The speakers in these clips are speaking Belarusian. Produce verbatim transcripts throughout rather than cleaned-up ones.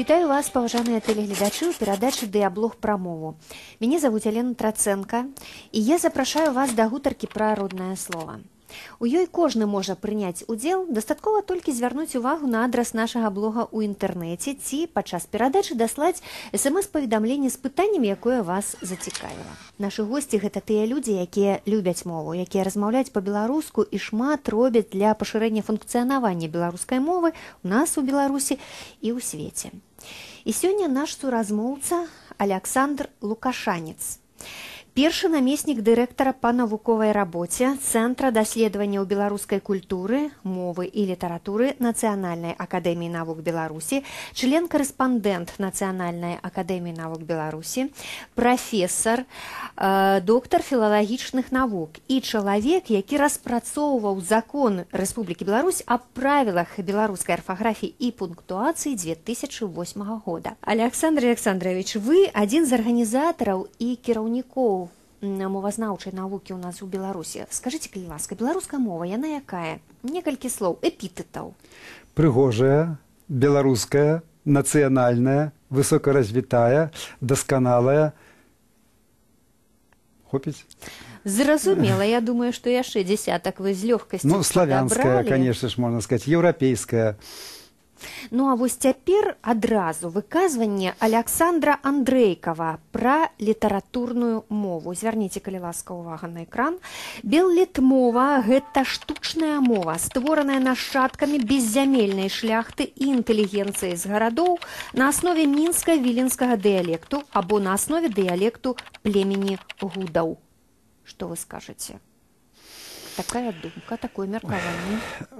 Вітаю вас, паважаныя тэлегледачы, у перадачы «Дыяблог пра мову». Мяне завуць Алена Трацэнка, і я запрашаю вас да гутаркі пра роднае слова. У ёй кожны можа прыняць удзел, дастаткова толькі звярнуць увагу на адрас нашага блога ў інтэрнэце ці падчас перадачы даслаць эс-эм-эс-паведамленне з пытаннем, якое вас зацікавіла. Нашы госці – гэта тыя людзі, якія любяць мову, якія размаўляюць па-беларуску і шмат робяць для пашырэння функцыянавання беларускай мовы у нас у Беларусі і ў свеце. І сёння наш суразмоўца Аляксандр Лукашанец. Першы намеснік дырэктара па навуковай рабоце Цэнтра даследаванняў беларускай культуры, мовы і літаратуры Нацыянальнай акадэміі навук Беларусі, член-карэспандэнт Нацыянальнай акадэміі навук Беларусі, прафесар, э, доктар філалагічных навук і чалавек, які распрацоўваў закон Рэспублікі Беларусь аб правілах беларускай арфаграфіі і пунктуацыі две тысячи восьмага года. Александр Александрович, вы адзін з арганізатараў і кіраўнікоў мовазнаўчай навукі ў нас у Беларусі. Скажыце, калі ласка, беларуская мова, яна якая? Некалькі слоў, эпітэтаў. Прыгожая, беларуская, нацыянальная, высокаразвітая, дасканалая. Хопіць? Зразумела, я думаю, што яшчэ дзесятак вы з лёгкасцю Ну, славянская, конечно ж, можна сказаць, еўрапейская. Ну, а вось цяпер адразу выказванне Аляксандра Андрэйкава пра літаратурную мову. Звярніце, калі ласка, увага на экран. Беллітмова – гэта штучная мова, створаная нашчадкамі беззямельнай шляхты і інтэлігенцыі з гарадоў на аснове мінска-віленскага дыялекту або на аснове дыялекту племені гудаў. Што вы скажаце? Такая думка, такое меркаванне.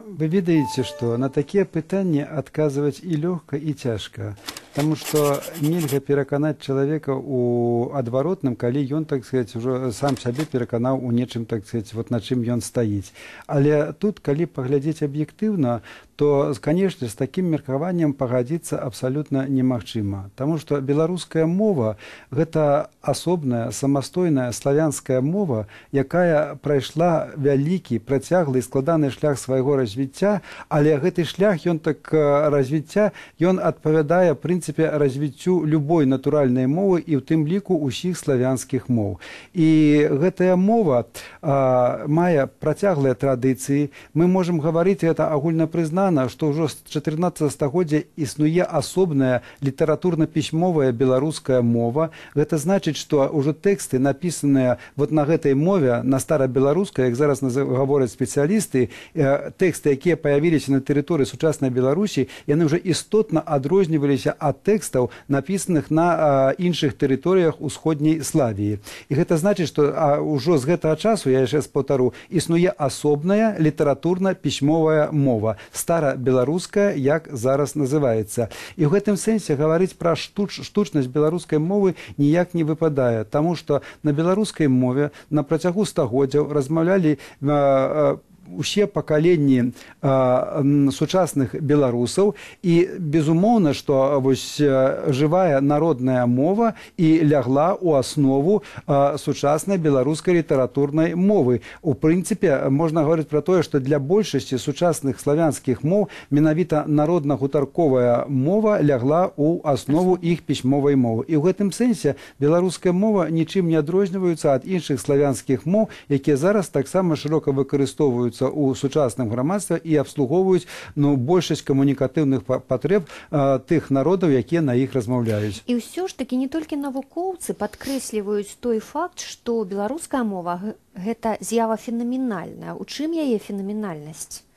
Вы ведаеце, што на такія пытанні адказваць і лёгка, і цяжка. Таму што нельга пераканаць чалавека ў адваротным, калі ён, так сказаць, ужо сам сябе пераканаў у нечым, так сказаць, вот на чым ён стаіць. Але тут, калі паглядзець аб'ектыўна, то, конечно, з такім меркаваннем пагадзіцца абсалютна немагчыма. Таму што беларуская мова – гэта асобная, самастойная славянская мова, якая прайшла вялікі, працяглы і складаны шлях свайго развіцця, але гэты шлях, ён так развіцця, ён адпавядае, в прынцыпе, развіццю любой натуральнай мовы і ў тым ліку ўсіх славянскіх моў. І гэтая мова а, мае працяглыя традыцыі. Мы можам гаварыць, гэта агульнапрызнана, што ўжо з чатырнаццатага стагоддзя існуе асобная літаратурна-пісьмовая беларуская мова. Гэта значыць, што ўжо тэксты, напісаныя вот на гэтай мове, на старабеларускай, як зараз гавораць спецыялісты, тэксты, якія паявіліся на тэрыторыі сучаснай Беларусі, яны ўжо істотна адрозніваліся ад тэкстаў, напісаных на іншых тэрыторыях усходняй Славіі. І гэта значыць, што ўжо з гэтага часу, я яшчэ паўтару, існуе асобная літаратурна-пісьмовая мова, беларуская, як зараз называецца. І ў гэтым сэнсе гаварыць пра штуч, штучнасць беларускай мовы ніяк не выпадае, таму што на беларускай мове на працягу стагоддзяў размаўлялі э, усе пакаленні э, сучасных беларусаў, і безумоўна, што вось жывая народная мова і лягла ў аснову э, сучаснай беларускай літаратурнай мовы. У прынцыпе, можна гаварыць пра тое, што для большасці сучасных славянскіх моў менавіта народна-гутарковая мова лягла ў аснову іх пісьмовай мовы. І ў гэтым сэнсе беларуская мова нічым не адрозніваецца ад іншых славянскіх моў, якія зараз таксама шырока выкарыстоўваюцца у сучасным грамадстве і абслугоўваюць, ну, большасць камунікатыўных патрэб э, тых народаў, якія на іх размаўляюць. І ўсё ж такі не толькі навукоўцы падкрэсліваюць той факт, што беларуская мова гэта з'ява фенаменальная. У чым яе фенаменальнасць?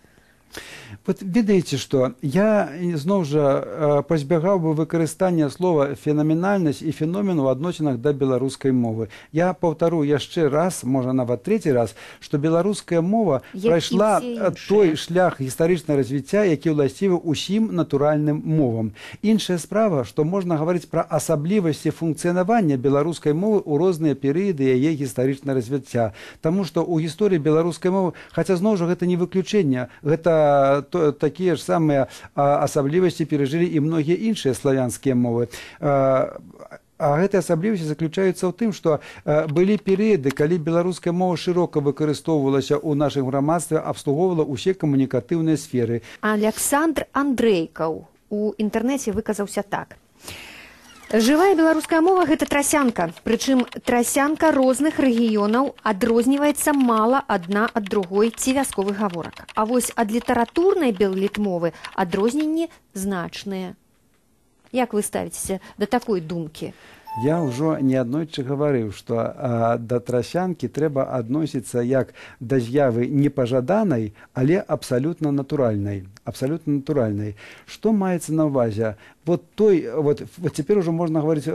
Вот ведаеце, што я зноў жа пазбягаў бы выкарыстання слова фенаменальнасць і феномен у адносінах да беларускай мовы. Я паўтару яшчэ раз, можа нават трэці раз, што беларуская мова прайшла той шлях гістарычнага развіцця, які ўласцівы ўсім натуральным мовам. Іншая справа, што можна гаварыць пра асаблівасці функцыянавання беларускай мовы ў розныя перыяды яе гістарычнага развіцця. Таму што ў гісторыі беларускай мовы, хаця зноў жа гэта не выключэнне, гэта то, такія ж самыя асаблівасці перажылі і многія іншыя славянскія мовы. А, а гэтыя асаблівасці заключаюцца ў тым, што а, былі перыяды, калі беларуская мова шырока выкарыстоўвалася ў нашым грамадстве, абслугоўвала ўсе камунікатыўныя сферы. Аляксандр Андрэйкаў, у інтэрнэце выказаўся так. Жывая беларуская мова – гэта трасянка, прычым трасянка розных рэгіёнаў адрозніваецца мала адна ад другой ці вясковых гаворак. А вось ад літаратурнай беллітмовы адрозненні значныя. Як вы ставіцеся да такой думкі? Я ўжо неаднойчы гаварыў, што а, да трасянкі трэба адносіцца як да з'явы непажаданай, але абсалютна натуральнай. Абсолютно натуральной. Что маецца на ўвазе? Вот той, вот, вот теперь уже можно говорить,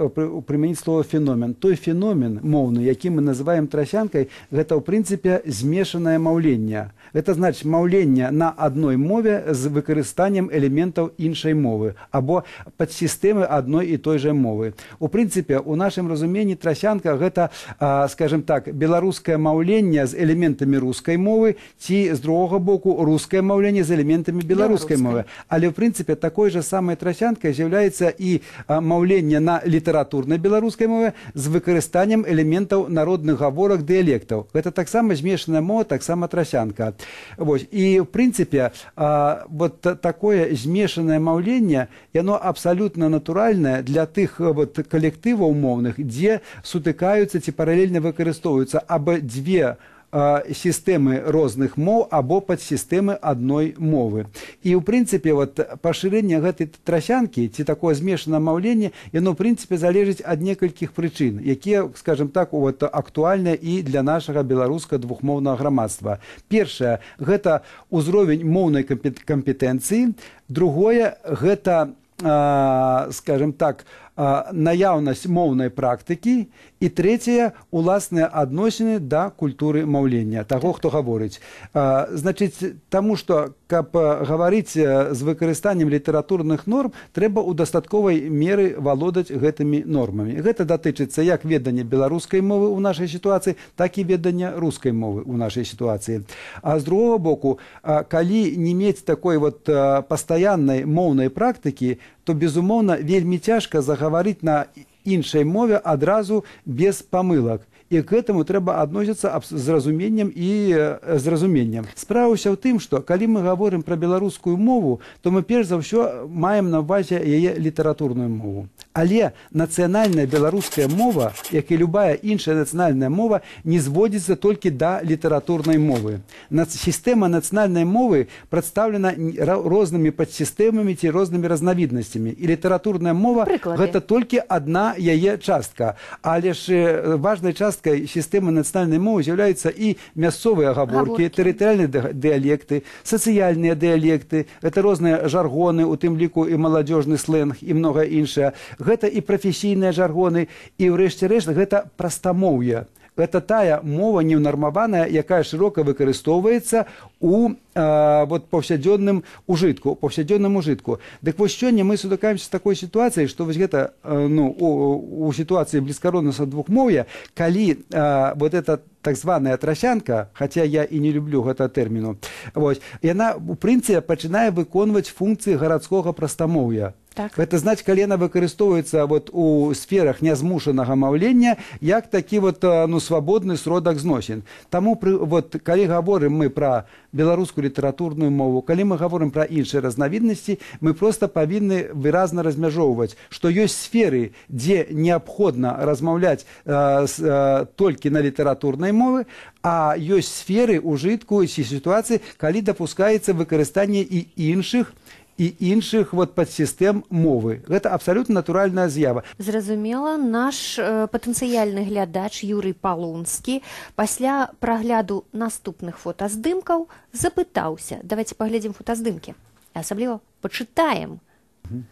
применить слово феномен. Той феномен моўны, які мы называем трасянкой, гэта в принципе змешанное маўленне. Это значит маўленне на одной мове з выкарыстаннем элементаў іншай мовы, або падсістэмы одной и той же мовы. У принципе, у нашым разуменні трасянка гэта, а, скажем так, беларускае маўленне з элементамі рускай мовы, ці з другого боку рускае маўленне з элементамі беларускай белорусской мовы. Але в принципе такой же самой трасянкой является и а, маўленне на литературной белорусской мове с выкарыстаннем элементов народных гаворак диалектов. Это так само змешанная мова, так само трасянка. Вот. И в принципе а, вот такое змешанное маўленне, оно абсолютно натуральное для тых вот коллективов мовных, где сутыкаются ці параллельно выкарыстоўваюцца або две системы розных моў або падсістэмы адной мовы. І ў прынцыпе вот пашырэнне гэтай трасянкі ці такое змешанае маўленне, яно ў прынцыпе залежыць ад некалькіх прычын, якія, скажем так, вот актуальныя і для нашага беларускага двухмоўнага грамадства. Першае гэта ўзровень моўнай кампетэнцыі, другое гэта, скажем так, наяўнасць моўнай практыкі, і трэцяе уласныя адносіны да культуры маўлення, таго, хто гаворыць. Значыць, таму што, каб гаварыць з выкарыстаннем літаратурных норм, трэба ў дастатковай меры валодаць гэтымі нормамі. Гэта датычыцца як ведання беларускай мовы ў нашай сітуацыі, так і ведання рускай мовы ў нашай сітуацыі. А з другого боку, калі не мець такой вот пастаяннай моўнай практыкі, то, безумоўна, вельмі цяжка загаварыць на іншай мове адразу без памылак. І к этому трэба адносіцца з разуменнем і з разуменнем. Справа ўся ў тым, што калі мы гаворым пра беларускую мову, то мы перш за ўсё маем на ўвазе яе літаратурную мову. Але нацыянальная беларуская мова, як і любая іншая нацыянальная мова, не зводзіцца толькі да літаратурнай мовы. Сістэма нацыянальнай мовы прадстаўлена рознымі падсістэмамі ці рознымі разнавіднасцямі. І літаратурная мова гэта толькі адна яе частка. Але ж важнай часткай системы национальной мовы являются и мясцовые оговорки, территориальные диалекты, социальные диалекты, это разные жаргоны, у тым ліку и молодежный сленг, и многое іншае. Это и профессийные жаргоны, и врэшце-рэшт это простомоўе. Это тая мова неўнармаваная, якая широко выкарыстоўваецца у э, вот, паўсядзённым ужытку, паўсядзённым ужытку. Дык вось сёння мы сутыкаемся с такой ситуацией, что вось гэта, э, ну, у, у ситуации блізкароднага двухмоўя, калі э, вот эта так званая трасянка, хотя я и не люблю гэта тэрміну, вот, яна у прынцыпе пачынае выконваць функцыі гарадскога прастамоўя. Так. Это значит, калі яна выкарыстоўваецца вот у сферах нязмушанага маўлення як такі вот, ну, свабодны сродак зносін. Таму пры, вот, калі гаворым мы пра беларускую літаратурную мову, калі мы гаворым пра іншыя разнавіднасці, мы просто павінны выразна размяжоўваць, што ёсць сферы, дзе неабходна размаўляць э, с, э, толькі на літаратурнай мовы, а ёсць сферы ужытку ці сітуацыі, калі дапускаецца выкарыстанне і іншых і іншых вот падсістэм мовы. Гэта абсалютна натуральная з'ява. Зразумела, наш э, патэнцыяльны глядач Юрый Палонскі пасля прагляду наступных фотаздымкаў запытаўся. Давайте паглядзім фотаздымкі. Асабліва пачытаем. Mm-hmm.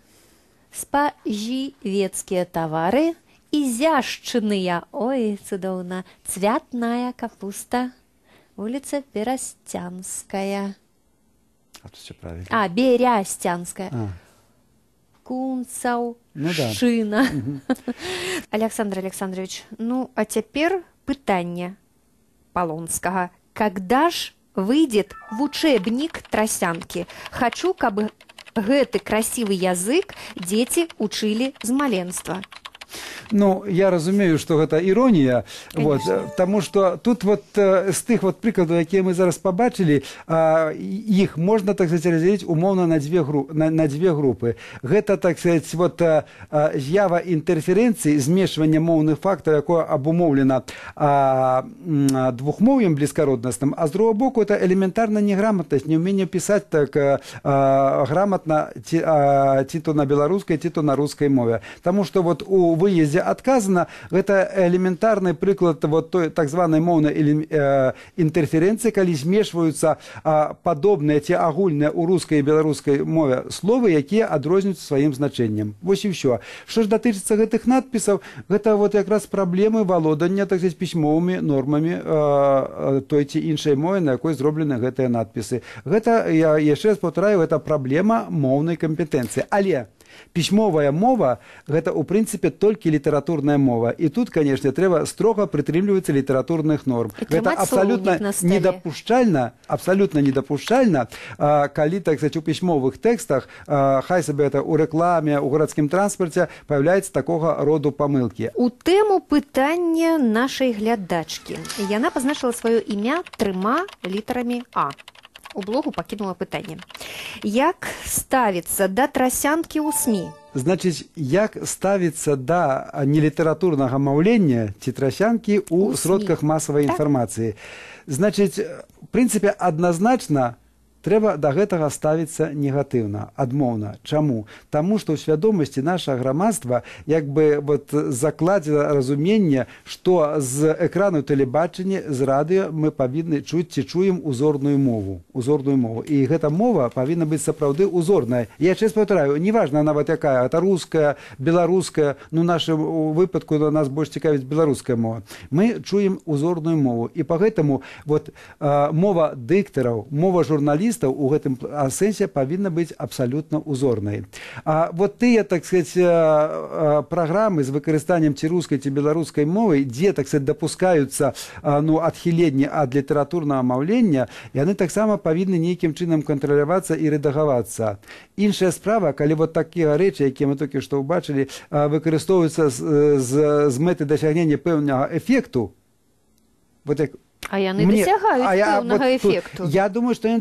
Спажывецкія тавары, изяшчыныя, ой, цудоўна, цвятная капуста, вуліца Берасцянская. А, Берястянская. А. Кунцаў, ну, Шына. Да. Угу. Александр Александрович, ну, а цяпер пытанне Палонскага. Когда ж выйдет в учебник трасянки? Хочу, каб гэты красивый язык дети учили з маленства. Ну, я разумею, что это ирония, вот, потому что тут вот з тых вот прикладаў, якія мы зараз побачили, их можно, так сказать, разделить умовно на две, гру, на, на две группы. Это, так сказать, вот з'ява интерференции, змешивание моўных фактов, якое обумовлено двухмовьем близкородностным, а с другого боку это элементарная неграмотность, неумение писать так грамотно, ці то на белорусской, ці то на русской мове. Потому что вот у выезде отказано, это элементарный приклад вот той так званой моўной интерференции, когда змешиваются подобные, те агульные у русской и белорусской мове словы, якія адрозніваюцца своим значением. Вот и все. Что ж датычыцца гэтых надписов, это вот как раз проблемы володания, так сказать, письмовыми нормами э, той ці іншай мовы, на якой зроблены гэтыя надписы. Это, я еще раз повторяю, это проблема моўной компетенции. Але письмовая мова – это, у принципе, только литературная мова. И тут, конечно, треба строго прытрымлівацца литературных норм. Это абсолютно недопушчальна, абсолютно недопушчальна, калі, так сказать, у письмовых текстах, хай себе это у рекламе, у городским транспорте, появляется такого роду помылки. У тему пытання нашей глядачки. Яна позначила свое імя трьома літерами А. У блогу пакінула пытанне. Як ставіцца да трасянкі ў СМІ? Значит, як ставіцца да нелітаратурнага маўлення ці трасянкі ў сродках масавай інфармацыі? Значит, в принципе, адназначна трэба да гэтага ставіцца негатыўна, адмоўна. Чаму? Таму што ў свядомасці нашага грамадства як бы вот закладзена разуменне, што з экрану тэлебачання, з радыё мы павінны чуць ці чуем узорную мову. Узорную мову. І гэта мова павінна быць сапраўды узорная. Я чест паўтараю, неважна нават якая, это руская, беларуская, ну в нашым выпадку на нас больш цікавіць беларуская мова. Мы чуем узорную мову. І па гэтаму вот мова дыктараў, мова журналістаў у гэтым сэнсе павінна быць абсалютна узорнай. А вот тыя, так сказать, праграмы з выкарыстаннем ці рускай ці беларускай мовы, дзе, так сказать, дапускаюцца ну, адхіленні ад літаратурнага маўлення, яны таксама павінны нейкім чынам кантралявацца і рэдагавацца. Іншая справа, калі вот такія рэчы, якія мы толькі што ўбачылі, выкарыстоўваюцца з, з, з мэты дасягнення пэўнага эфекту, вот як А яны дасягаюць пэўнага эфекту. Я думаю, што яны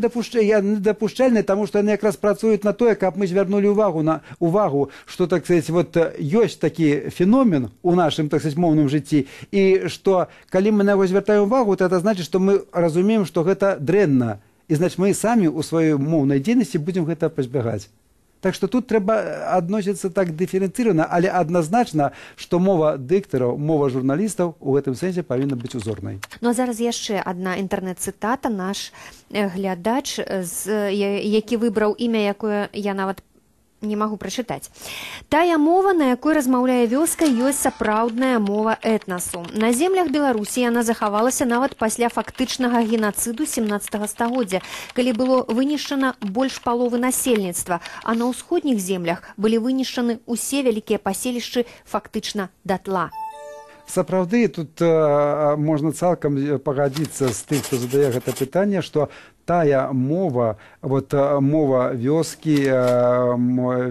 дапушчальныя, таму што яны якраз працуюць на тое, каб мы звярнулі ўвагу на увагу, што, так сказать, вот ёсць такі феномен у нашым, так сказать, моўным жыцці, і што калі мы на яго звяртаем увагу, то это значыць, што мы разумеем, што гэта дрэнна, і значыць мы самі ў сваёй моўнай дзейнасці будзем гэта пазбягаць. Так что тут трэба адносіцца так дыферэнцыравана, але адназначна, што мова дыктараў, мова журналістаў у гэтым сэнсе павінна быць узорнай. Ну а зараз яшчэ адна інтэрнэт-цытата. Наш глядач, які выбраў імя, якое я нават не магу прачытаць. Тая мова, на якой размаўляе вёска, ёсць сапраўдная мова этнасу. На землях Беларусі яна захавалася нават пасля фактычнага генацыду семнаццатага стагоддзя, калі было вынішчана больш паловы насельніцтва, а на ўсходніх землях былі вынішчаны ўсе вялікія паселішчы фактычна датла. Сапраўды, тут э, можна цалкам пагадзіцца з тым, хто задае гэта пытанне, што тая мова, вот мова вёскі,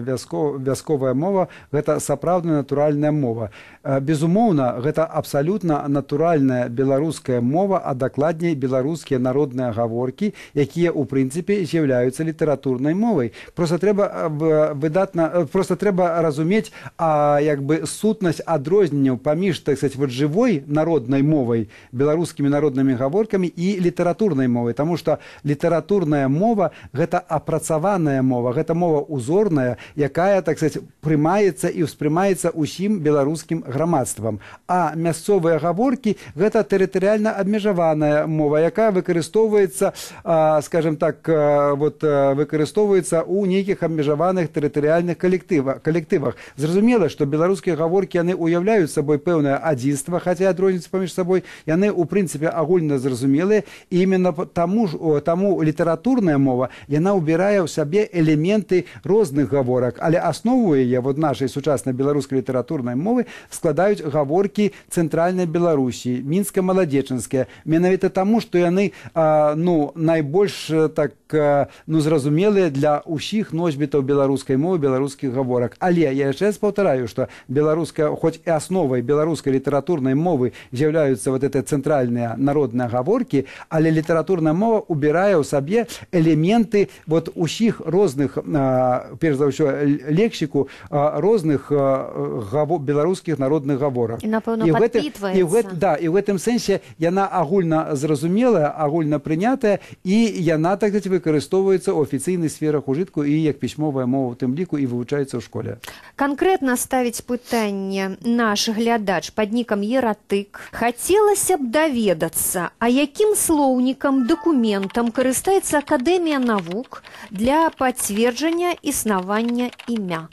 вяско, вясковая мова, гэта сапраўдная натуральная мова. Безумоўна, гэта абсалютна натуральная беларуская мова, а дакладней беларускія народныя гаворкі, якія ў прынцыпе з'яўляюцца літаратурнай мовай. Просто трэба выдатна, просто трэба разумець, а як бы сутнасць адрозненняў паміж, так сказать, вот жывой народнай мовай, беларускімі народнымі гаворкамі і літаратурнай мовай, таму што літаратурная мова – гэта апрацаваная мова, гэта мова узорная, якая, так сказать, прымаецца і ўспрымаецца ўсім беларускім грамадствам. А мясцовыя гаворкі – гэта тэрытарыяльна абмежаваная мова, якая выкарыстоўваецца, скажем так, вот, выкарыстоўваецца ў нейкіх абмежаваных тэрытарыяльных калектывах. Зразумела, што беларускія гаворкі, яны уяўляюць сабой пэўнае адзінства, хаця адрозніваюцца паміж сабой, яны, у прынцыпе, агульна зразумелыя, і іменно таму, таму літаратурная мова, яна ўбірае ў сабе элементы розных гаворак, але аснову яе вот нашай сучаснай беларускай літаратурнай мовы складаюць гаворкі цэнтральнай Беларусі, мінска-маладзечанская, менавіта таму, што яны а, ну, найбольш так а, ну, зразумелыя для ўсіх носьбітаў беларускай мовы, беларускіх гаворак. Але я яшчэ раз паўтараю, што беларуская, хоць і асновай беларускай літаратурнай мовы з'яўляюцца вот это цэнтральныя народныя гаворкі, але літаратурная мова убірае ў сабе элементы вот усіх розных, а, перш за ўсё, лексіку а, розных а, гаво, беларускіх народных гаворак. І, напэўна, падпітваецца. І ў гэт, да, і ў гэтым сэнсе яна агульна зразумелая, агульна прынятая, і яна, так сказать, выкарыстоўваецца ў афіцыйных сферах ужытку і як пісьмовая мова ў тым ліку і вывучаецца ў школе. Канкрэтна ставіць пытанне наш глядач пад нікам Ератык. Хацелася б даведацца, а якім слоўнікам, дакументам карыстаецца Акадэмія навук для пацверджання існавання імя?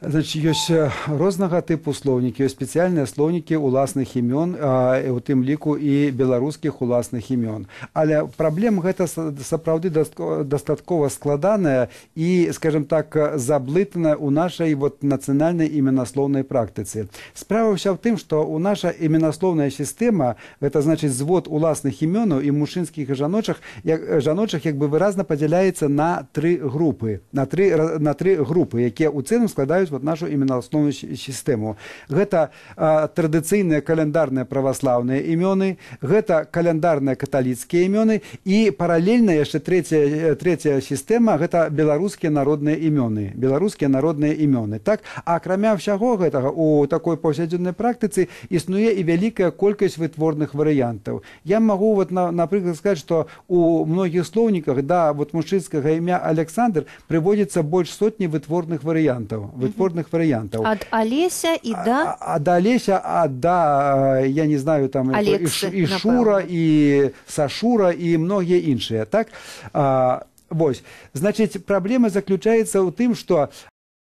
Значит, ёсць рознага тыпу слоўнікі, ёсць спецыяльныя слоўнікі уласных імён, а, у тым ліку і беларускіх уласных імён. Але праблема гэта сапраўды дастаткова складаная і, скажем так, заблытаная ў нашай вот нацыянальнай іменаслоўнай практыцы. Справа ўся ў тым, што ў наша іменаслоўная сістэма, гэта значыць звод уласных імёнаў і мужчынскіх і жаночых, як, жаночых як бы выразна падзяляецца на тры групы, на тры, на тры групы, якія ў цэлым складаюць вот нашу іменаслоўную сістэму. Гэта а, традыцыйныя каляндарныя праваслаўныя імёны, гэта каляндарныя каталіцкія імёны і паралельна яшчэ трэцяя, трэцяя сістэма, гэта беларускія народныя імёны. Беларускія народныя імёны. Так? А акрамя ўсяго гэтага, у такой паўсядзённай практыцы існуе і вялікая колькасць вытворных варыянтаў. Я магу, вот, на, напрыклад, сказаць, што у многіх слоўніках да вот, мужчынскага імя Александр прыводзіцца больш сотні вытворных варыянтаў. Вытворных варыянтаў. Ад Алеся і да... Ад Алеся, а да, я не знаю, там Алексы, і, і Шура, і Сашура, і многія іншыя, так? А, вось. Значыць, праблема заключаецца ў тым, што